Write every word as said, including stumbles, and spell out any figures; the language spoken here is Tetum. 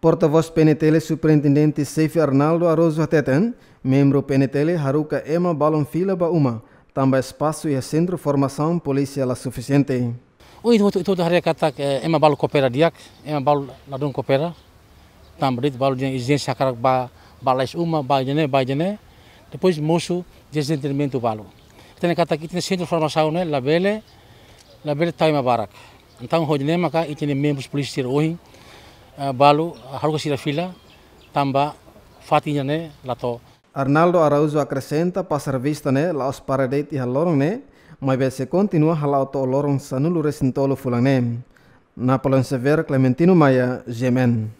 Portavós P N T L Superintendente Xefe Arnaldo Araújo hateten, membru P N T L haruka ema balun fila ba uma, tanba espasu iha sentru formasaun polísia la sufisiente. Ohin ita, ita, ita haree katak, eh, ema balu koopera di'ak, ema balu ladún koopera. Tanba de'it balu dehan ezijénsia hakarak ba, ba lais uma, ba ida-ne'e, ba ida-ne'e. Depois mosu dezentendimentu balu. Ita hatene katak ita-nia sentru formasaun ne'e labele, labele tau ema barak. Entaun hodi ne'e maka ita-nia membru polísia sira ohin, eh, balu, eh, haruka sira fila, tanba fatin ida-ne'e la to'o. Arnaldo Araújo akresenta pasar vista ne'e la'ós para de'it iha loron ne'e, maibé sei kontinua hala'o to'o loron sanulu-resin-tolu fulan ne'e. Napoleão Xavier, Clementino Maia, G M N.